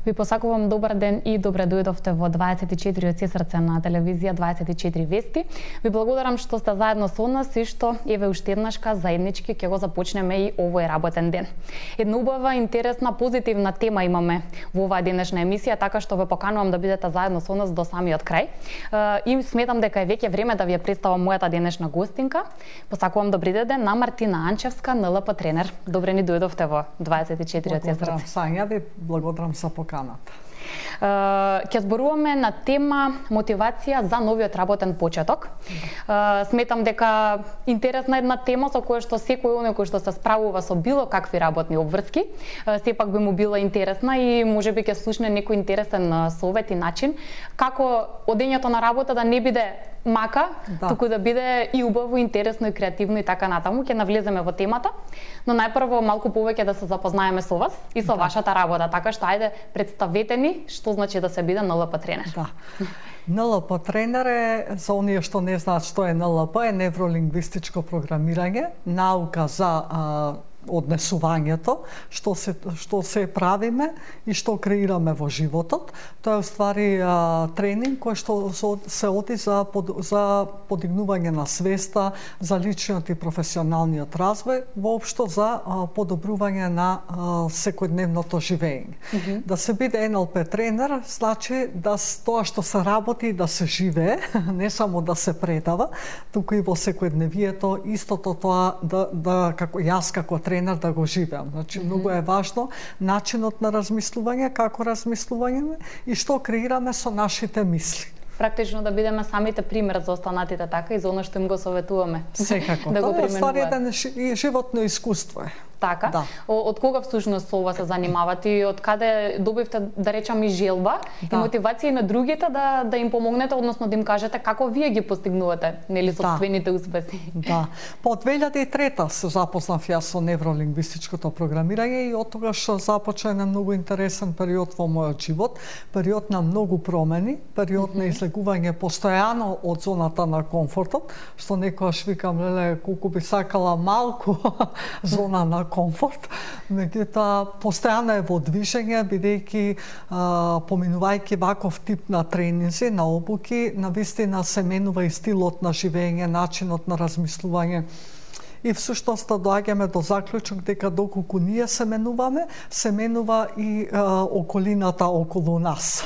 Ви посакувам добар ден и добре дојдовте во 24 од срце на телевизија 24 вести. Ви благодарам што сте заедно со нас и што еве уште еднашка заеднички ќе го започнеме и овој работен ден. Една убава, интересна, позитивна тема имаме во оваа денешна емисија, така што ве поканувам да бидете заедно со нас до самиот крај. И сметам дека е веќе време да ви ја представам мојата денешна гостинка. Посакувам добри ден на Мартина Анчевска, НЛП тренер. Добре ни дојдовте во 24 од срце. Благодарам Сања, ви благодарам за поканата. Ќе зборуваме на тема мотивација за новиот работен почеток. Сметам дека интересна една тема со која што секој оној кој што се справува со било какви работни обврски, сепак би му била интересна и можеби ќе слушне некој интересен совет и начин како одењето на работа да не биде мака, туку да биде и убаво, интересно и креативно и така натаму. Ќе навлеземе во темата, но најпрво малку повеќе да се запознаеме со вас и со вашата работа, така што ајде представете ни што значи да се биде НЛП тренер. Да. НЛП тренер е, за оние што не знаат што е НЛП, е невролингвистичко програмирање, наука за однесувањето, што се правиме и што креираме во животот. Тоа е уствари тренинг кој што се оди за подигнување на свеста, за личниот и професионалниот развој, воопшто за подобрување на секојдневното живење. Да се биде НЛП тренер значи да тоа што се работи да се живее, не само да се предава, туку и во секојдневието истото тоа да како јас како тренер да го живеам. Значи, многу е важно начинот на размислување, како размислување и што креираме со нашите мисли. Практично да бидеме самите пример за останатите така и за оно што им го советуваме. Секако. Да го применуваат. Тоа е еден животно искуство е. Така. Да. Од кога всушност со ова се занимавате и од каде добивте, да речам, и желба и мотивација и на другите да им помогнете, односно да им кажете како вие ги постигнувате, нели, собствените успеси? Да. По 2003 се запознав јас со невролингвистичкото програмирање и од тогаш започна еден многу интересен период во мојот живот, период на многу промени, период на излегување постојано од зоната на комфортот, што некојаш викам, леле, колку би сакала малку зона на комфорт, меѓутоа постојано е во движење, бидејќи поминувајќи ваков тип на тренинзи, на обуки, навистина се менува и стилот на живење, начинот на размислување. И всушност доаѓаме до заклучок дека доколку ние се менува и околината околу нас.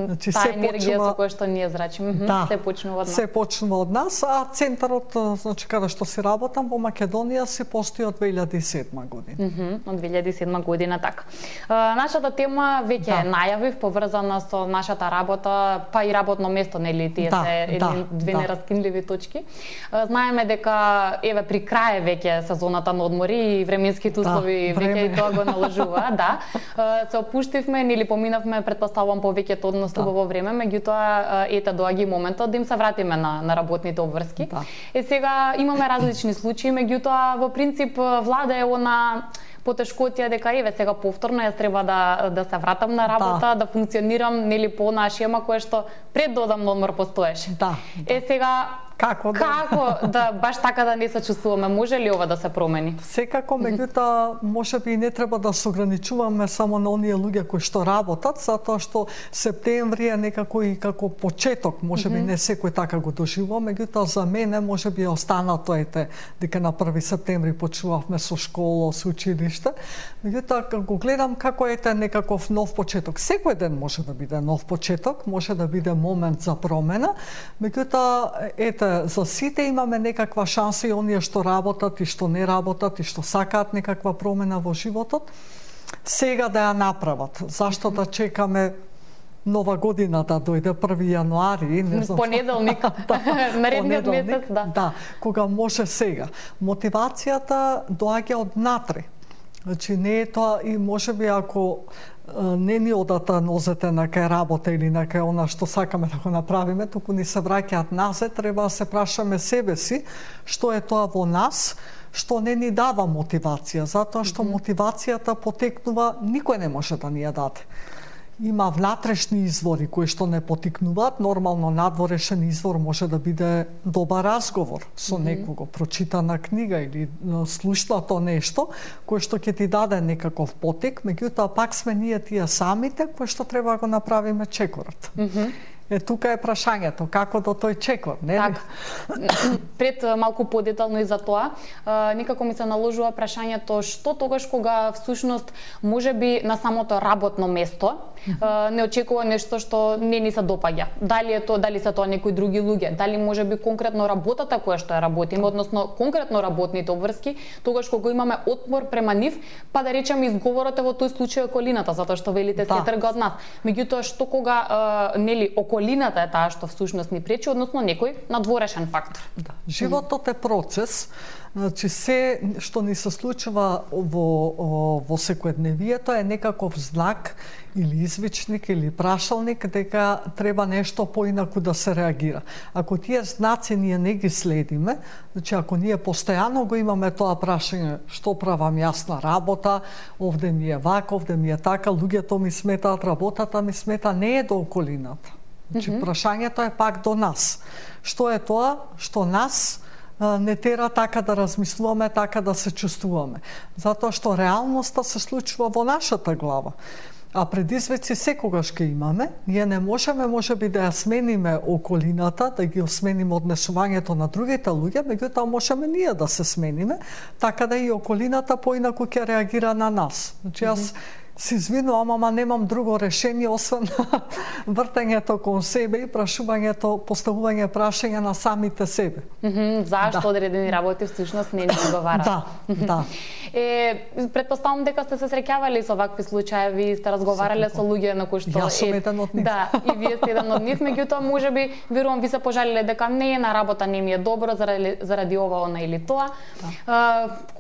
Значи се енергија со која што ние зрачиме, се почнува од нас. Се почнува од нас, а центарот, значи каде што си работам во Македонија, се постои од 2007 година. Од 2007 година, така. Нашата тема веќе најавив, поврзана со нашата работа, па и работно место, нели, тие се две нераскинливи точки. Знаеме дека еве при крај веќе сезоната на одмори и временските услови веќе и тоа го наложува, се опуштивме или поминавме, претпоставувам, повеќето од нас во време, меѓутоа ете доаѓа и моментот да им се вратиме на работните обврски. Сега имаме различни случаи, меѓутоа во принцип влада е она потешкотија дека еве сега повторно јас треба да се вратам на работа, да функционирам нели по онаа шема која што пред да одам на одмор постоеше. Сега Како да баш така да не се чувствуваме? Може ли ова да се промени? Секако, меѓутоа можеби не треба да се ограничуваме само на оние луѓе кои што работат, затоа што септември е некако и како почеток, можеби не секој така го доживува, меѓутоа за мене можеби останато ете дека на 1 септември почнувавме со школа, со училиште. Меѓутоа го гледам како ете некаков нов почеток. Секој ден може да биде нов почеток, може да биде момент за промена, меѓутоа ете за сите имаме некаква шанса и оние што работат и што не работат и што сакаат некаква промена во животот, сега да ја направат. Зашто да чекаме нова година да дојде 1 јануари, не знам. Понеделник, наредниот месец, Да, кога може сега. Мотивацијата доаѓа од натре. Значи не е тоа и можеби ако не ни одата нозете на кај работа или на кај она што сакаме да го направиме, туку ни се враќаат назад, треба да се прашаме себе си што е тоа во нас, што не ни дава мотивација, затоа што мотивацијата потекнува, никој не може да ни ја даде. има внатрешни извори кои што не потикнуваат, нормално надворешен извор може да биде добар разговор со некого, прочитана книга или слушнато нешто кое што ќе ти даде некаков потик, меѓутоа пак сме ние тие самите кои што треба да го направиме чекорот. Тука е прашањето, како до тој чекор, нели? Так. Пред малку подетално и за тоа, некако ми се наложува прашањето што тогаш кога всушност можеби на самото работно место не очекува нешто што не ни се допаѓа. Дали се тоа некои други луѓе, дали можеби конкретно работата која што ја работиме, односно конкретно работните обврски, тогаш кога имаме отпор према нив, па да речеме изговорот е во тој случај околината, затоа што велите се трга од нас. Меѓутоа што кога нели околината е таа што всушност ни пречи, односно некој надворешен фактор. Животот е процес. Значи се што ни се случува во секојдневието е некаков знак или извичник или прашалник дека треба нешто поинаку да се реагира. Ако тие знаци ние не ги следиме, значи ако ние постојано го имаме тоа прашање што правам јас на работа, овде ми е вака, овде ми е така, луѓето ми сметаат, работата ми смета, не е до околината. Значи прашањето е пак до нас. Што е тоа што нас не тера така да размислуваме, така да се чувствуваме. Затоа што реалноста се случува во нашата глава. А предизвици секогаш ќе имаме. Ние не можеме можеби да ја смениме околината, да ги смениме однесувањето на другите луѓе, меѓутоа можеме ние да се смениме, така да и околината поинаку ќе реагира на нас. Значи јас се извинувам, ама немам друго решение освен вртењето кон себе и прашувањето, поставување прашања на самите себе. Зашто одредени работи всушност не ни одговараат? Да. Предпоставам дека сте се среќавали со вакви случаи, сте разговарале со луѓе на кои што Јас сум еден од нив. Да, и вие сте еден од нив, меѓутоа можеби верувам ви се пожалиле дека не е на работа, не ми е добро заради ова, она или тоа.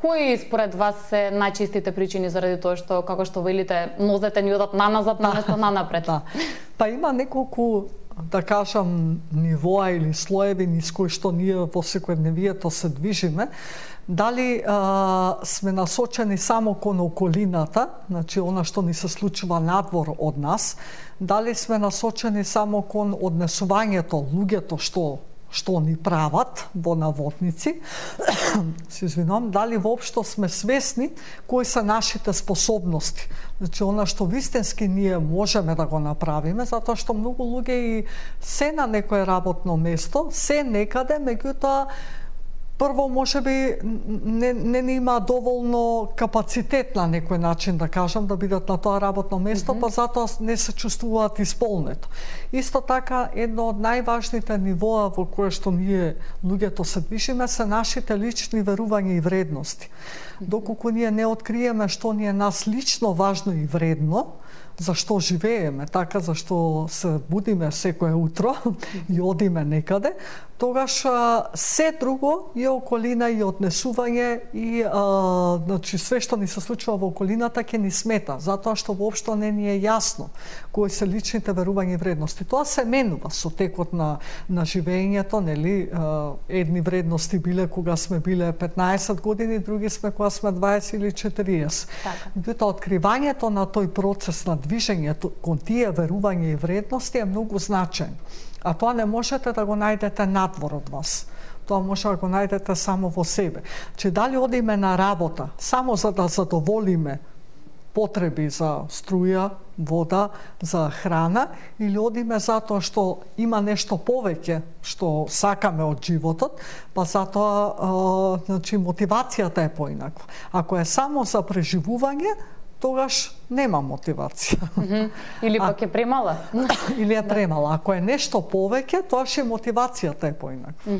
Кои според вас се најчестите причини заради тоа што како што велите нозете ни одат наназад наместо нанапред? Па има неколку, да кажам, нивоа или слоеви низ кои што ние во секојдневието се движиме. Дали сме насочени само кон околината, значи она што ни се случува надвор од нас, дали сме насочени само кон однесувањето, луѓето што ни прават во наводници, се извинувам, дали воопшто сме свесни кои се нашите способности. Значи, она што вистински ние можеме да го направиме, затоа што многу луѓе и се на некое работно место, се некаде, меѓутоа прво можеби не има доволно капацитет на некој начин, да кажам, да бидат на тоа работно место, па затоа не се чувствуваат исполнето. Исто така, едно од најважните нивоа во кое што ние луѓето се движиме се нашите лични верувања и вредности. Доколку ние не откриеме што ни е нас лично важно и вредно, зашто живееме, така зашто се будиме секое утро и одиме некаде, тогаш се друго и околина и однесување и значи све што ни се случува во околината ќе ни смета, затоа што воопшто не ни е јасно кои се личните верувања и вредности. Тоа се менува со текот на живењето, нели? Едни вредности биле кога сме биле 15 години, други сме кога сме 20 или 40. Меѓутоа откривањето на тој процес на движењето кон тие верувања и вредности е многу значаен. А тоа не можете да го најдете надвор од вас. Тоа може да го најдете само во себе. Че дали одиме на работа само за да задоволиме потреби за струја, вода, за храна, или одиме затоа што има нешто повеќе што сакаме од животот, па затоа значи мотивацијата е поинаква. Ако е само за преживување, тогаш нема мотивација. Или пак е премала. Или е премала. Ако е нешто повеќе, тогаш и мотивацијата е поинаква.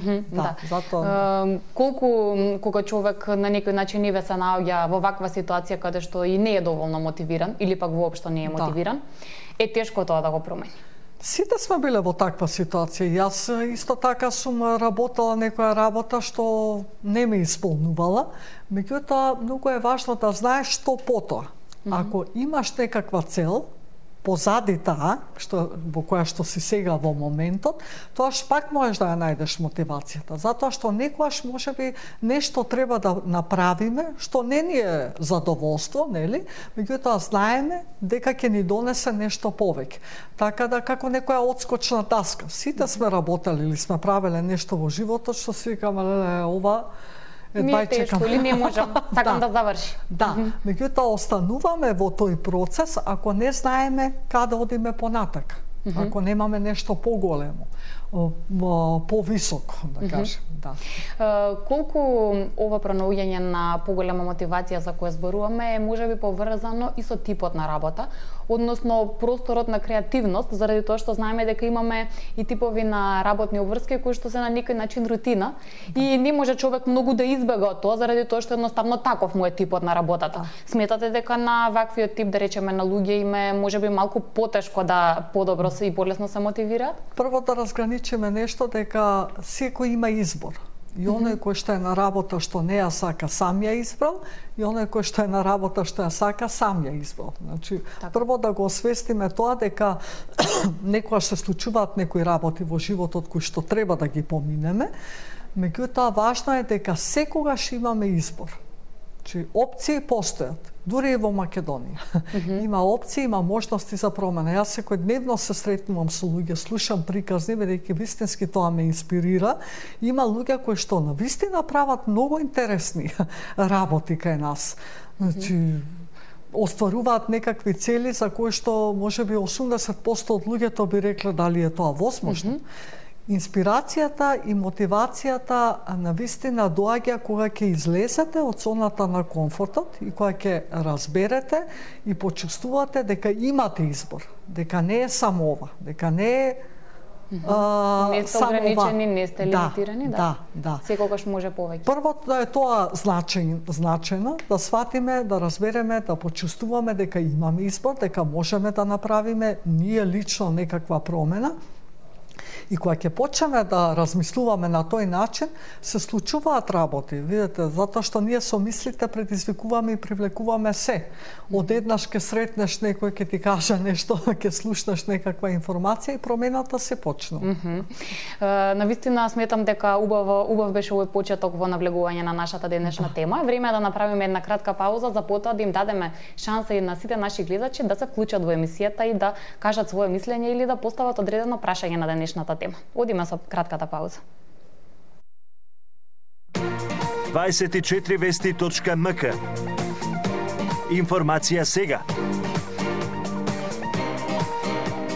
Затоа колку кога човек на некој начин не се наоѓа во ваква ситуација каде што и не е доволно мотивиран или пак воопшто не е мотивиран, е тешко тоа да го промени. Сите сме биле во таква ситуација. Јас исто така сум работела некоја работа што не ме исполнувала, меѓутоа многу е важно да знаеш што потоа. Ако имаш некаква цел, позади таа, во која што си сега во моментот, тоаш пак можеш да ја најдеш мотивацијата. Затоа што некојаш можеби нешто треба да направиме, што не ни е задоволство, нели? Меѓутоа знаеме дека ќе ни донесе нешто повеќе. Така да како некоја одскочна таска. Сите сме работели или сме правеле нешто во животот што си викаме, ова ми е тешко или не можам, сакам да заврши. Да, меѓутоа остануваме во тој процес ако не знаеме каде одиме понатака. Ако немаме нешто поголемо, повисоко, да кажем. Да. Колку ова пронаоѓање на поголема мотивација за која зборуваме е можеби поврзано и со типот на работа, односно просторот на креативност, заради тоа што знаеме дека имаме и типови на работни обврски кои што се на некој начин рутина и не може човек многу да избега од тоа заради тоа што едноставно таков му е типот на работата. Сметате дека на ваквиот тип, да речеме, на луѓе им е можеби малку потешко да подобро се и полесно се мотивираат? Прво да разграничиме нешто дека секој има избор. И оној кој што е на работа што не ја сака, сам ја избрал, и оној кој што е на работа што ја сака, сам ја избрал. Значи, прво да го освестиме тоа дека некогаш се случуваат некои работи во животот кои што треба да ги поминеме, меѓутоа важно е дека секогаш имаме избор. Значи, опции постојат. Дури и во Македонија. Има опции, има можности за промена. Јас секојдневно се сретнувам со луѓе, слушам приказни, бидејќи вистински тоа ме инспирира. Има луѓе кои што навистина прават многу интересни работи кај нас. Значи, остваруваат некакви цели за кои што можеби 80% од луѓето би рекле дали е тоа возможно. Инспирацијата и мотивацијата навистина доаѓа кога ќе излезете од зоната на комфортот и кога ќе разберете и почувствувате дека имате избор, дека не е само ова, дека не е не сте ограничени, не сте лимитирани, да. Секогаш може повеќе. Првото да е тоа значено, да сватиме, да разбереме, да почувствуваме дека имаме избор, дека можеме да направиме ние лично некаква промена. И кога ќе почнеме да размислуваме на тој начин, се случуваат работи, видите, затоа што ние со мислите предизвикуваме и привлекуваме се. Одеднаш ќе сретнеш некој, ќе ти каже нешто, ќе слушнеш некаква информација и промената се почнува. Навистина сметам дека убав беше овој почеток во навлегување на нашата денешна тема. Време е да направиме една кратка пауза за потоа да им дадеме шанса и на сите наши гледачи да се вклучат во емисијата и да кажат свое мислење или да постават одредено прашање на денешната тема. Одиме со кратката пауза. 24vesti.mk Информација сега.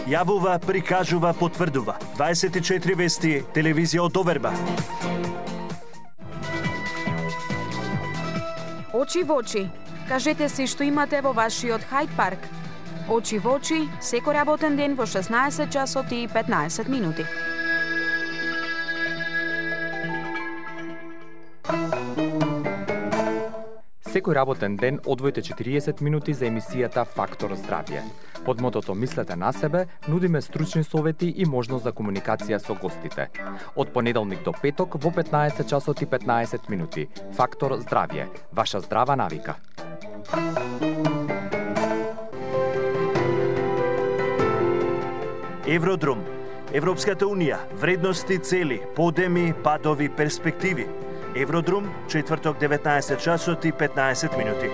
Јавува, прикажува, потврдува. 24 вести, телевизија од доверба. Очи во очи. Кажете си што имате во вашиот Хајд парк. Очи во очи, секој работен ден во 16 часот и 15 минути. Секој работен ден одвојте 40 минути за емисијата Фактор здравје. Под мотото Мислете на себе, нудиме стручни совети и можност за комуникација со гостите. Од понеделник до петок во 15 часот и 15 минути. Фактор здравје. Ваша здрава навика. Евродрум. Европската унија. Вредности, цели, подеми, падови, перспективи. Евродрум, четврток 19 часот и 15 минути.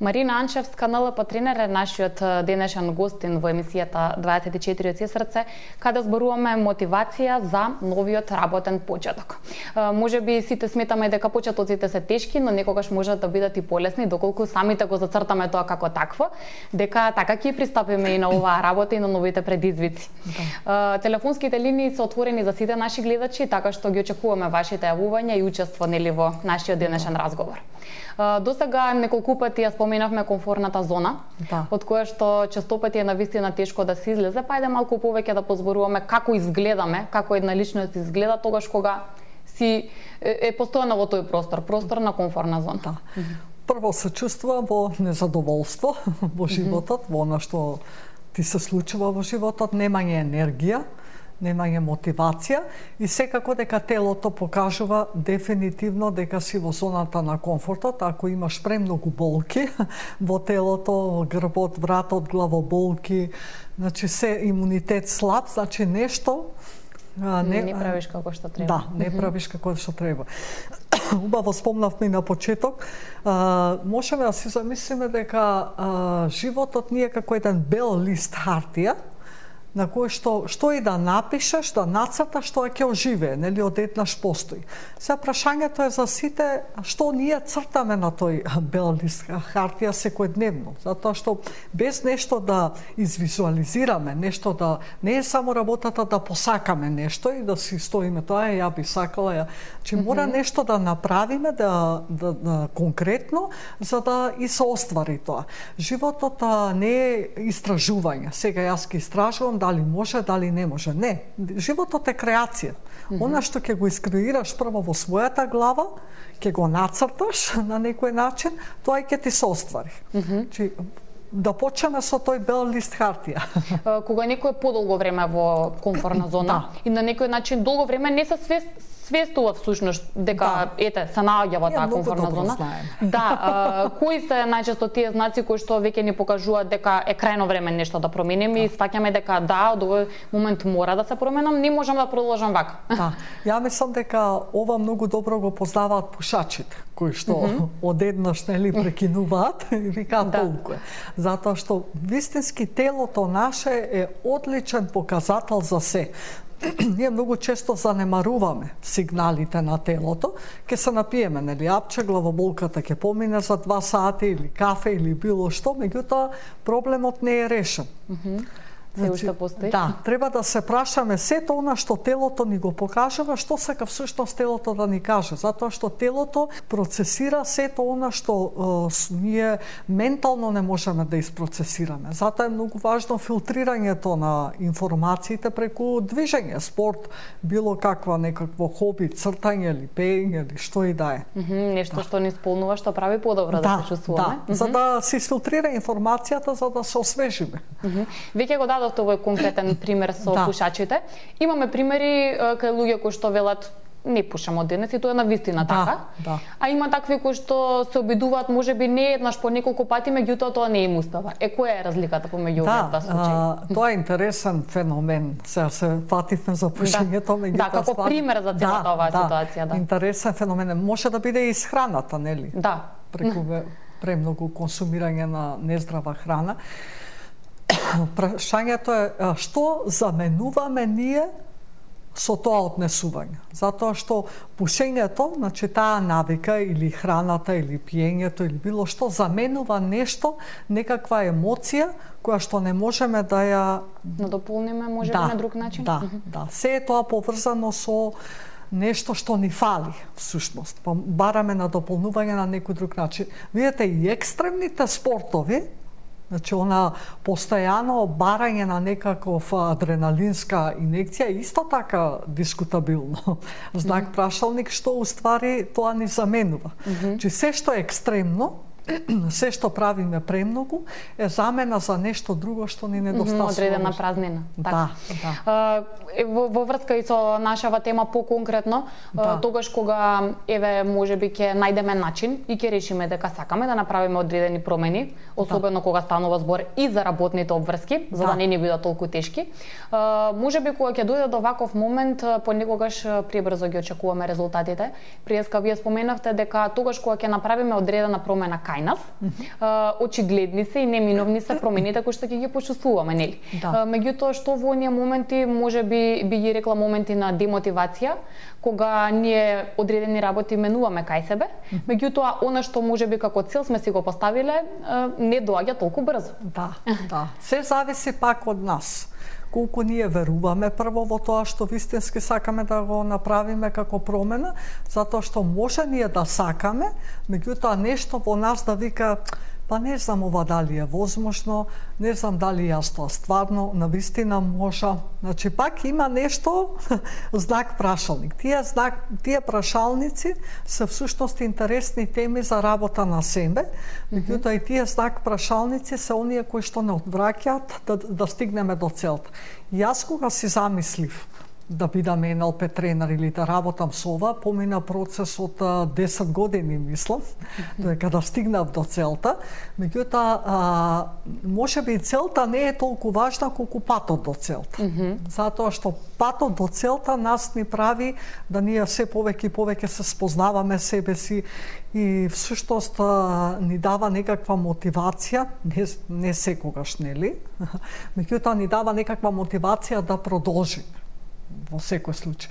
Марина Анчевска, НЛП тренер, е нашиот денешен гостин во емисијата 24 од срце, каде зборуваме мотивација за новиот работен почеток. Може би сите сметаме дека почетоците се тешки, но некогаш можат да бидат и полесни, доколку самите го зацртаме тоа како такво, дека така ќе пристапиме и на оваа работа и на новите предизвици. Телефонските линии се отворени за сите наши гледачи, така што ги очекуваме вашите јавувања и учество нели во нашиот денешен разговор. До сега неколку пати ја споменавме комфортната зона, од која што честопати е навистина тешко да се излезе, па ајде малку повеќе да позборуваме како изгледаме, како една личност изгледа тогаш кога си е постојана во тој простор на комфортна зона. Прво се чувствувам во незадоволство во животот, во она што ти се случува во животот, немање енергија, немање мотивација и секако дека телото покажува дефинитивно дека си во зоната на комфортот. Ако имаш премногу болки во телото, грбот, вратот, главоболки, значи се имунитет слаб, значи нешто не правиш како што треба. Да, не правиш како што треба. Убаво спомнавме и на почеток, можеме да си замислиме дека животот ни е како еден бел лист хартија, на кој што и да напишеш, да нацрташ, што ќе оживее, нели одеднаш постои. Сега прашањето е за сите што ние цртаме на тој бел лист хартија секојдневно, затоа што без нешто да извизуализираме, нешто да не е само работата да посакаме нешто и да си стоиме тоа ја би сакала, че мора нешто да направиме да конкретно за да и се оствари тоа. Животот не е истражување. Сега јас ќе истражувам дали може, дали не може. Не, животот е креација. Она што ќе го искреираш прво во својата глава, ќе го нацрташ на некој начин, тоа и ќе ти се оствари. Да почнеме со тој бел лист хартија. Кога некој е подолго време во комфортна зона и на некој начин долго време не се свестува всушност дека ете се наоѓа во таа комфортна зона. Да, кои се најчесто тие знаци кои што веќе ни покажуваат дека е крајно време нешто да промениме и сваќаме дека од овој момент мора да се променам, не можам да продолжам вака. Да, ја мислам дека ова многу добро го познаваат пушачите, кои што одеднаш нели прекинуваат и викаат толку е. Затоа што вистински телото наше е одличен показател за се. Ние многу често занемаруваме сигналите на телото, ќе се напиеме, нели, апче, главоболката ќе помине за 2 сати или кафе или било што, меѓутоа проблемот не е решен. Се уште постои? Да, треба да се прашаме сето она што телото ни го покажува, што сака всушност телото да ни каже, затоа што телото процесира сето она што ние ментално не можеме да isprocesираме. Затоа е многу важно филтрирањето на информациите преку движење, спорт, било каква некакво хоби, цртање или пеење или што и да е. Нешто што ни исполнува, што прави подобро да се чувствуваме. Да, за да се изфилтрира информацијата, за да се освежиме. Веќе го дадовте овој конкретен пример со пушачите. Имаме примери кај луѓе кои што велат не пушам од денес и тоа е навистина така. А има такви кои што се обидуваат можеби не еднаш по неколку пати, меѓутоа тоа не им успева. Која е разликата помеѓу овие два случаи? Тоа е интересен феномен. Сега се фативме за пушењето, меѓутоа да, како пример за целата оваа ситуација, интересен феномен. Може да биде и исхраната, нели? Да. Преку премногу консумирање на нездрава храна. Прашањето е што заменуваме ние со тоа однесување. Затоа што пушењето, значи таа навика или храната или пиењето или било што заменува нешто, некаква емоција која што не можеме да ја надополниме можеби на друг начин. Да. Се е тоа поврзано со нешто што ни фали, всушност. Бараме надополнување на некој друг начин. Видете, и екстремните спортови, значи, она постојано барање на некаков адреналинска инекција исто така дискутабилно. Знак прашалник што уствари тоа ни заменува. Значи, се што е екстремно, се што правиме премногу е замена за нешто друго што ни недостасува. Одредена празнина. Да. Во врска и со нашава тема поконкретно, тогаш кога еве можеби ќе најдеме начин и ќе решиме дека сакаме да направиме одредени промени, особено кога станува збор и за работните обврски, за да не ни бидат толку тешки. Можеби кога ќе дојде до ваков момент, понекогаш пребрзо ги очекуваме резултатите. Преска вие споменавте дека тогаш кога ќе направиме одредена промена кај нас, очигледни се и неминовни се промените кои што ќе ги почувствуваме, нели? Меѓутоа што во оние моменти можеби би ги рекла моменти на демотивација, кога ние одредени работи менуваме кај себе, меѓутоа она што можеби како цел сме си го поставиле не доаѓа толку брзо. Да. Се зависи пак од нас. Колку ние веруваме прво во тоа што вистински сакаме да го направиме како промена, затоа што може ние да сакаме, меѓутоа нешто во нас да вика па не знам ова дали е возможно, не знам дали јас тоа стварно, навистина можам. Значи, пак има нешто, знак прашалник. Тие прашалници се всушност интересни теми за работа на себе, меѓутоа и тие знак прашалници се оние кои што не одвраќаат да стигнеме до целта. Јас кога си замислив да бидам НЛП тренер или да работам со ова, помина процес од 10 години, мислам, дека да стигнав до целта. Меѓутоа, можеби целта не е толку важна колку патот до целта. Затоа што патот до целта нас ни прави да ние се повеќе и повеќе се спознаваме себе си и всушност ни дава некаква мотивација, не секогаш, нели? Меѓутоа ни дава некаква мотивација да продолжиме во секој случај.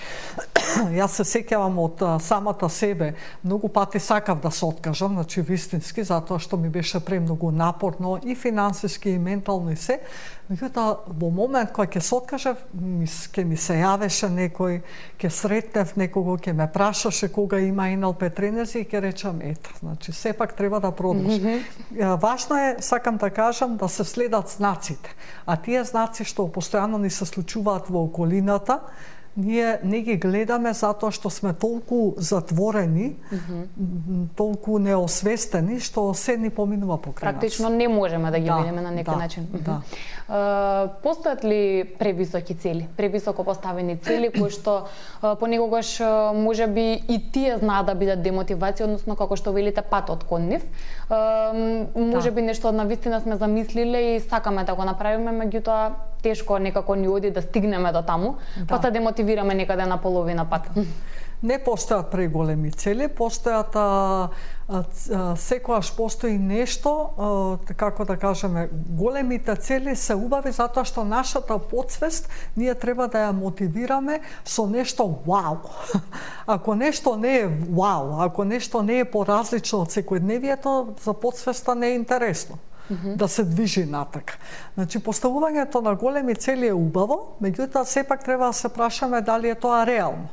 Јас се сеќавам од самата себе, многу пати сакав да се откажам, значи вистински, затоа што ми беше премногу напорно и финансиски и ментално и се. Меѓутоа, во момент кога ќе се откажав, ќе ми се јавеше некој, ќе сретнев некого, ќе ме прашаше кога има НЛП тренери и ќе речам ето, значи сепак треба да продолжи. Важно е, сакам да кажам, да се следат знаците. А тие знаци што постојано ни се случуваат во околината, ние не ги гледаме затоа што сме толку затворени, толку неосвестени, што се ни поминува покрај нас. Практично не можеме да ги видиме на некој начин. Постојат ли превисоки цели, превисоко поставени цели кои што понекогаш можеби и тие знаат да бидат демотивација, односно како што велите патот кон нив. Можеби нешто навистина сме замислиле и сакаме да го направиме, меѓутоа тешко некако ни оди да стигнеме до таму, па се демотивираме некаде на половина пат. Не постојат преголеми цели, постојат секогаш постои нешто, како да кажеме, големите цели се убави затоа што нашата потсвест ние треба да ја мотивираме со нешто вау. Ако нешто не е вау, ако нешто не е поразлично од секојдневието, за потсвеста не е интересно да се движи натака. Значи, поставувањето на големи цели е убаво, меѓутоа сепак треба да се прашаме дали е тоа реално.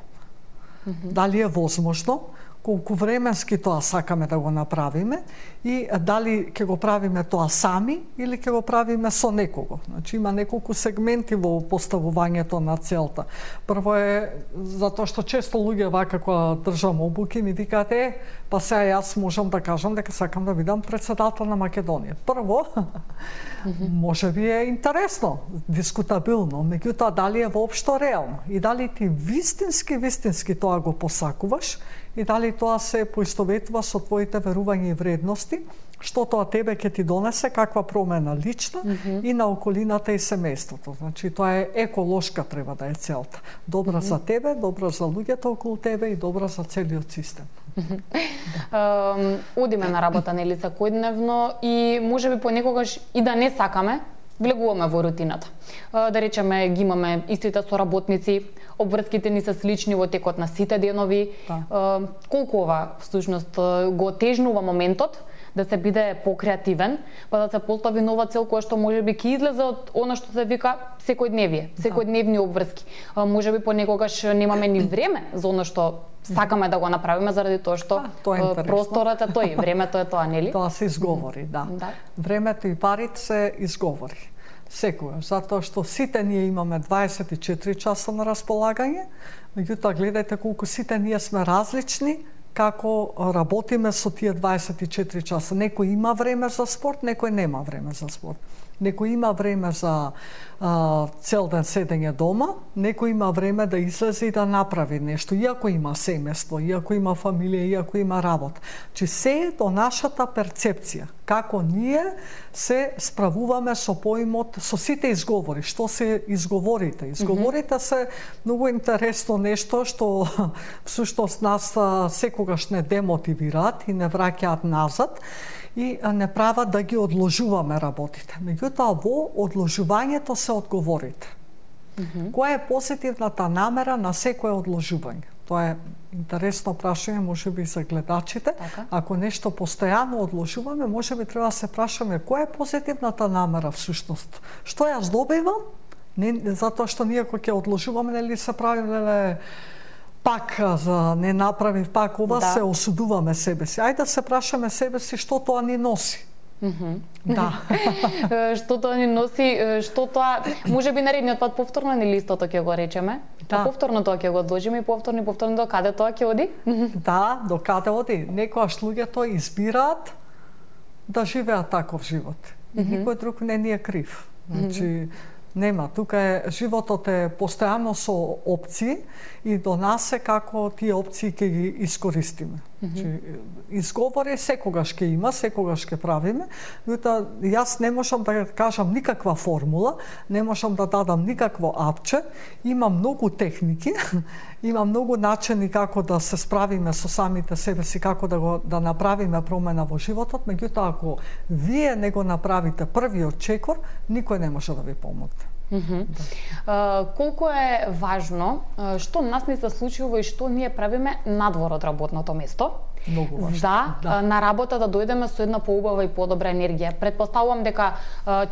Дали е возможно, колку временски тоа сакаме да го направиме и дали ќе го правиме тоа сами или ќе го правиме со некого. Значи, има неколку сегменти во поставувањето на целта. Прво е затоа што често луѓе вака кога држам обуки ми викаат па сега јас можам да кажам дека сакам да бидам председател на Македонија. Прво, може би е интересно, дискутабилно, меѓутоа дали е воопшто реално и дали ти вистински тоа го посакуваш и дали тоа се поистоветува со твоите верувања и вредности, што тоа тебе ќе ти донесе, каква промена лична и на околината и семејството. Значи, тоа е еколошка треба да е целта. Добра за тебе, добра за луѓето околу тебе и добра за целиот систем. Одиме на работа, нели, секојдневно и можеби понекогаш и да не сакаме, влегуваме во рутината. Да речеме, ги имаме истите соработници, обврските ни се слични во текот на сите денови. Колку ова всушност го отежнува моментот да се биде покреативен, па да се постави нова цел која што можеби ќе излезе од она што се вика секојдневни обврски. Можеби понекогаш немаме ни време за она што сакаме да го направиме заради тоа што просторот е тој, времето е тоа, нели? Тоа се изговори, да. Времето и парите се изговори. Секогаш, затоа што сите ние имаме 24 часа на располагање, меѓутоа гледајте колку сите ние сме различни, како работиме со тие 24 часа. Некој има време за спорт, некој нема време за спорт. Некој има време за цел ден седење дома, некој има време да излезе и да направи нешто, иако има семејство, иако има фамилија, иако има работа. Че се е до нашата перцепција, како ние се справуваме со поимот, со сите изговори, што се изговорите. Изговорите се многу интересно нешто што всушност нас секогаш не демотивираат и не враќаат назад и не прават да ги одложуваме работите. Меѓутоа, во одложувањето се одговорите. Која е позитивната намера на секое одложување? Тоа е интересно прашање, можеби за гледачите. Ако нешто постојано одложуваме, можеби треба да се прашаме која е позитивната намера всушност. Што јас добивам? Не затоа што ние кога ќе одложуваме, нели се правиме пак за не направив пак ова, се осудуваме себе си. Ајде да се прашаме себе си што тоа ни носи. Да. Што тоа ни носи, што тоа, можеби наредниот пат повторно ни листото ќе го речеме, да. Повторно тоа ќе го одложиме и повторно до каде тоа ќе оди? Да, до каде оди. Некојаш луѓето избираат да живеат таков живот. И никој друг не ни е крив. Значи, нема, тука е, животот е постојано со опции и до нас е како тие опции ќе ги искористиме. Значи, изговори секогаш ќе има, секогаш ќе правиме, но јас не можам да кажам никаква формула, не можам да дадам никакво апче, има многу техники, има многу начини како да се справиме со самите себе си, како да направиме промена во животот, меѓутоа ако вие не го направите првиот чекор, никој не може да ви помогне. Колку е важно што нас не се случува и што ние правиме надвор од работното место, многу важно. На работа да дојдеме со една поубава и подобра енергија. Претпоставувам дека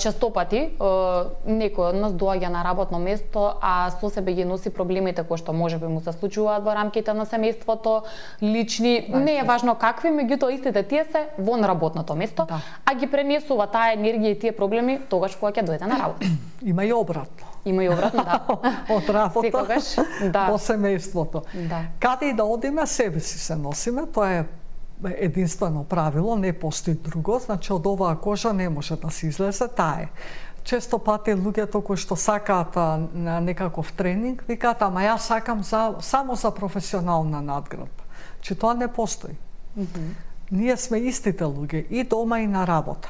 честопати некој од нас доаѓа на работно место, а со себе ги носи проблемите кои што можеби му се случуваат во рамките на семејството, лични, не е важно какви, меѓутоа истите тие се во работното место, а ги пренесува таа енергија и тие проблеми тогаш кога ќе дојде на работа. Има и обратно. Има и обратно, да. Од работа секогаш, во семејството. Да. Каде и да одиме, себе си се носиме, тоа е единствено правило, не постои друго, значи од оваа кожа не може да се излезе, таа е. Често пати луѓето кои што сакаат на некаков тренинг, викаат, ама јас сакам само за професионална надградба. Че тоа не постои. Ние сме истите луѓе и дома и на работа.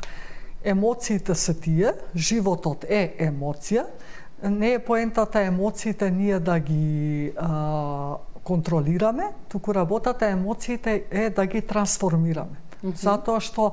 Емоциите се тие, животот е емоција, не е поентата емоциите ние да ги контролираме, туку работата емоциите е да ги трансформираме. Затоа што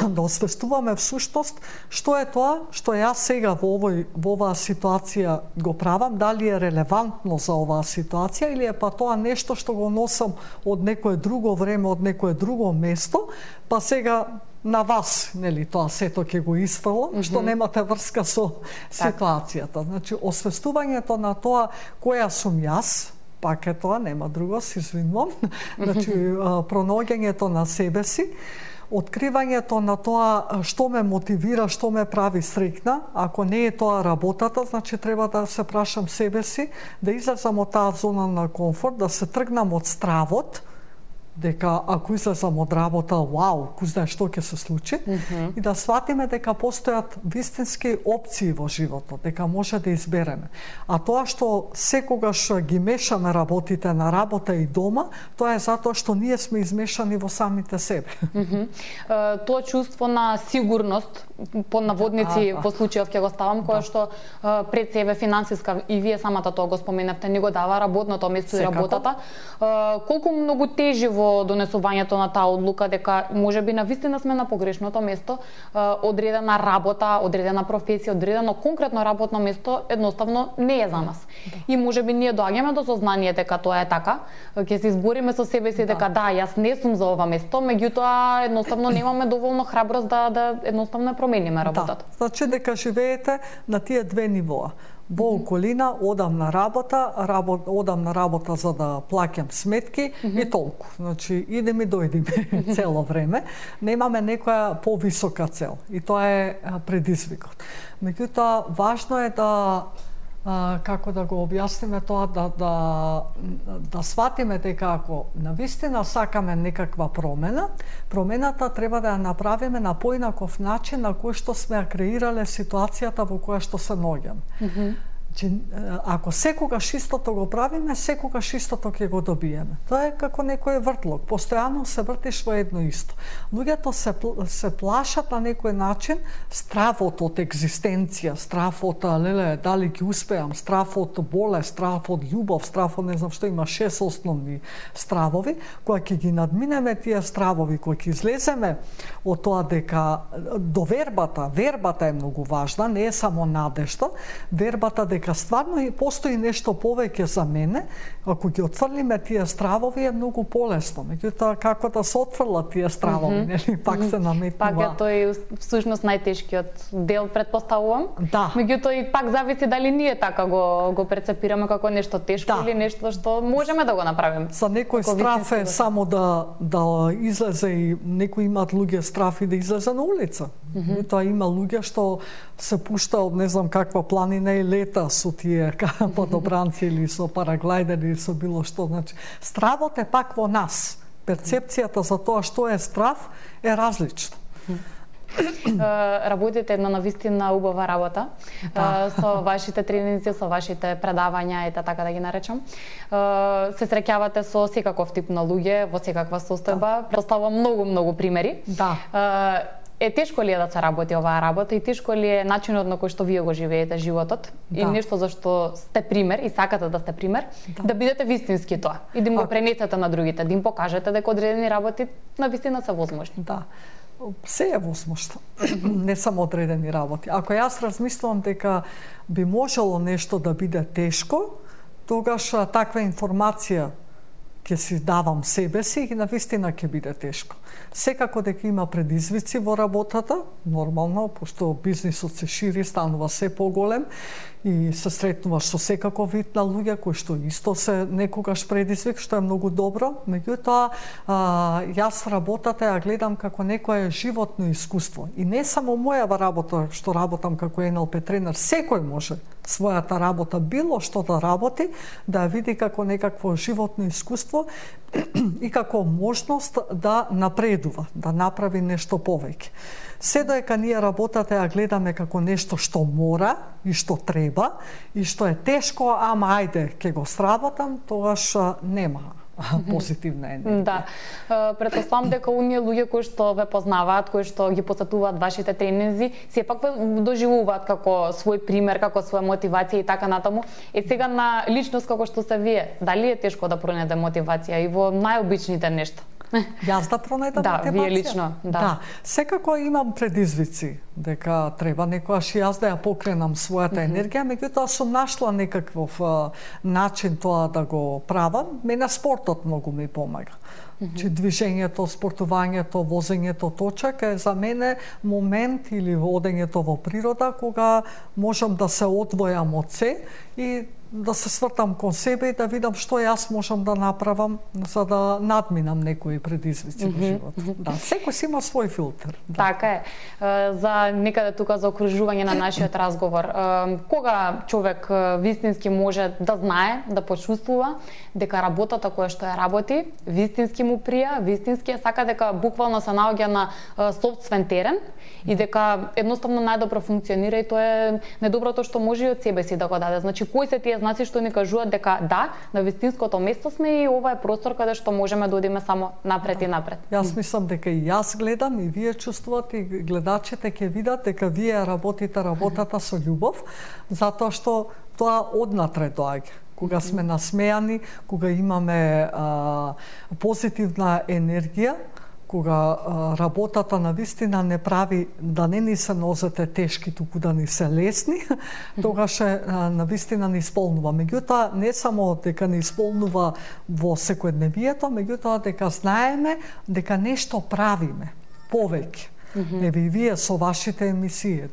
да освестуваме всушност што е тоа што јас сега во оваа ситуација го правам, дали е релевантно за оваа ситуација или е па тоа нешто што го носам од некое друго време, од некое друго место, па сега на вас, нели, тоа сето ќе го исфрлам, што немате врска со ситуацијата. Значи, освестувањето на тоа која сум јас, пак е тоа, нема друго, се извинувам. Значи, пронаоѓањето на себе си, откривањето на тоа што ме мотивира, што ме прави среќна, ако не е тоа работата, значи треба да се прашам себе си, да излезам од таа зона на комфорт, да се тргнам од стравот, дека ако излезам од работа, вау, кој знае што ќе се случи, и да сватиме дека постојат вистински опции во животот, дека може да избереме. А тоа што секогаш ги мешаме работите на работа и дома, тоа е затоа што ние сме измешани во самите себе. Тоа чувство на сигурност, по наводници во случајов ќе го ставам, кое што пред себе финансиска, и вие самата тоа го споменавте, не го дава работното место и работата. Колку многу тежи во донесувањето на таа одлука дека можеби навистина сме на погрешното место, одредена работа, одредена професија, одредено конкретно работно место едноставно не е за нас. И можеби ние доаѓаме до сознание дека тоа е така, ќе се избориме со себе си дека јас не сум за ова место, меѓутоа едноставно немаме доволно храброст да едноставно промениме работата. Значи дека живеете на тие две нивоа. Во околина, одам на работа за да плаќам сметки и толку. Значи, идем и дојдеме цело време. Немаме некоја повисока цел и тоа е предизвикот. Меѓутоа, важно е да како да го објасниме тоа, да сватиме дека ако навистина сакаме некаква промена, промената треба да ја направиме на поинаков начин на кој што сме ја креирале ситуацијата во која што се наоѓаме. Ако секогаш истото го правиме, секогаш истото ќе го добиеме. Тоа е како некој вртлок, постојано се вртиш во едно исто. Луѓето се плашат на некој начин, стравот од екзистенција, страв од дали ќе успеам, страв од болест, страв од љубов, страв од не знам што, има 6 основни стравови. Кога ќе ги надминеме тие стравови, кога ќе излеземе од тоа дека до вербата е многу важна, не е само надежда, вербата дека стварно постои нешто повеќе за мене, ако ги отфрлиме тие стравови е многу полесно. Меѓутоа, како да се отфрлат тие стравови, нели, пак се наметнува. Пак е тој всушност најтешкиот дел, претпоставувам. Да. Меѓутоа и пак зависи дали ние така го прецепираме како нешто тешко или нешто што можеме да го направиме. За некој страв е само да излезе, и некои имаат луѓе страф и да излезе на улица. Тоа има луѓе што се пушта од не знам каква планина и лета со тие подобранци или со параглайдери или со било што. Значи, стравот е пак во нас. Перцепцијата за тоа што е страв е различна. Работите една навистина убава работа со вашите тренинзи, со вашите предавања, ете така да ги наречам. Се среќавате со секаков тип на луѓе, во секаква состојба. Представам многу примери. Е тешко ли е да се работи оваа работа и тешко ли е начинот на кој што вие го живеете животот и нешто за што сте пример и сакате да сте пример, да бидете вистински тоа и да им го пренесете на другите, да им покажете дека одредени работи навистина се возможни. Се е возможно, не само одредени работи. Ако јас размислувам дека би можело нешто да биде тешко, тогаш таква информација ќе си давам себе си и навистина ќе биде тешко. Секако дека има предизвици во работата, нормално, пошто бизнисот се шири, станува се поголем и се сретнуваш со секаков вид на луѓе кои што исто се некогаш предизвик, што е многу добро. Меѓутоа, јас работата ја гледам како некое животно искуство. И не само мојава работа, што работам како НЛП тренер, секој може својата работа, било што да работи, да ја види како некакво животно искуство и како можност да напредува, да направи нешто повеќе. Се доека ние работата ја гледаме како нешто што мора и што треба и што е тешко, ама ајде ќе го сработам, тогаш нема позитивна енергија. Да. Претпоставам дека оние луѓе кои што ве познаваат, кои што ги посетуваат вашите тренинзи, сепак ве доживуваат како свој пример, како своја мотивација и така натаму. Е сега на личност како што се вие, дали е тешко да пронајде мотивација и во најобичните нешта? Јас да пронајдам мотивација? Да, вие лично, да. Секако имам предизвици, дека треба некојаш јас да ја покренам својата енергија, меѓутоа сум нашла некаков начин тоа да го правам. Мене спортот многу ми помага. Че движењето, спортувањето, возењето точак е за мене момент или одењето во природа кога можам да се одвојам од се и да се свртам кон себе и да видам што јас можам да направам за да надминам некои предизвици во животот. Да, секој си има свој филтер. Така е. За некаде тука за окружување на нашиот разговор, кога човек вистински може да знае, да почувствува дека работата која што ја работи, вистински му прија, вистински сака дека буквално се наоѓа на сопствен терен и дека едноставно најдобро функционира и тоа е најдоброто што може и од себе си да го даде. Значи, кои се тие знаци што ни кажуваат дека да, на вистинското место сме и ова е простор каде што можеме да одиме само напред и напред. Јас мислам дека и јас гледам и вие чувствувате и гледачите ќе видат дека вие работите работата со љубов, затоа што тоа однатре доаѓа. Кога сме насмејани, кога имаме позитивна енергија, кога работата на вистина не прави да не ни се нозете тешки, туку да ни се лесни, тогаш на вистина ни исполнува. Меѓутоа, не само дека ни исполнува во секојдневието, меѓутоа дека знаеме дека нешто правиме повеќе. Еве и вие со вашите емисии,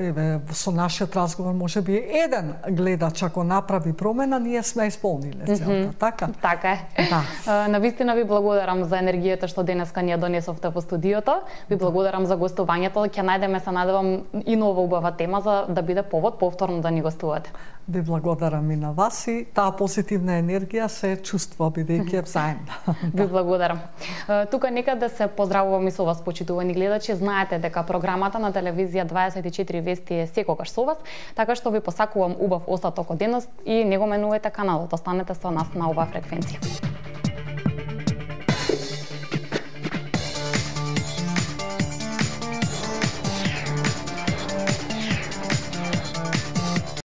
еве со нашиот разговор може би еден гледач ако направи промена, ние сме исполниле целта, така? Така е. Да. Навистина ви благодарам за енергијата што денеска ни ја донесовте во студиото. Ви благодарам за гостувањето. Ќе најдеме, се надевам, и нова убава тема за да биде повод повторно да ни гостувате. Ви благодарам и на вас и таа позитивна енергија се чувствува бидејќи е взаимна. Ви благодарам. Тука некаде се поздравувам и со вас, почитувани гледачи. Знаете дека програмата на телевизија 24 вести е секогаш со вас, така што ви посакувам убав остаток од денот и не го менувајте каналот. Останете со нас на оваа фреквенција.